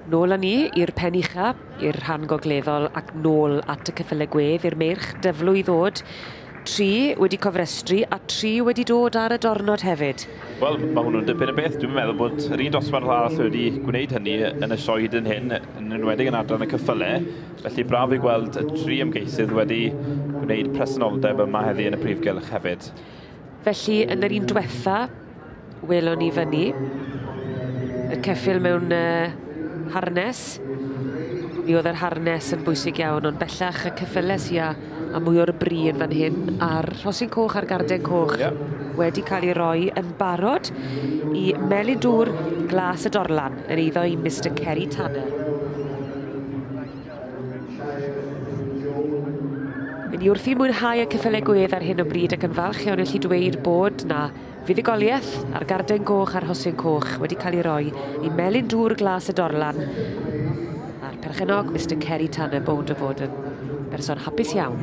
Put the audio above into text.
Nôl â ni i'r pen ucha, i'r rhan gogleddol ac nôl at y ceffyle gwedd i'r meirch dyflwy ddod. Tri wedi cofrestru a tri wedi dod ar y dornod hefyd. Wel, mae hwnnw'n dipyn o beth. Dwi'n meddwl bod yr un dosbarth arall wedi gwneud hynny yn y sioe hyd yn hyn, yn enwedig yn adran y cyffyle. Felly braf i gweld y tri ymgeisydd wedi gwneud presenoldeb yma heddi yn y prif gylch hefyd. Felly, yn yr un diwetha, welon ni fyny y ceffyl mewn harnes. Mi oedd yr harnes yn bwysig iawn, ond bellach y ceffyles ia a mwy o'r bri yn fan hyn, a'r rhosyn coch a'r garden coch wedi cael ei roi yn barod i Melyn Dŵr Glas y Dorlan yn eiddo i Mr Kerry Tanner. Yn ni wrthi mwynhau y ceffylau gwedd ar hyn o bryd ac yn falch iawn allu dweud bod na fuddugoliaeth a'r garden goch a'r rhosyn coch wedi cael ei roi i Melyn Dŵr Glas y Dorlan a'r perchennog Mr Kerry Tanner bownd o fod yn berson hapus iawn.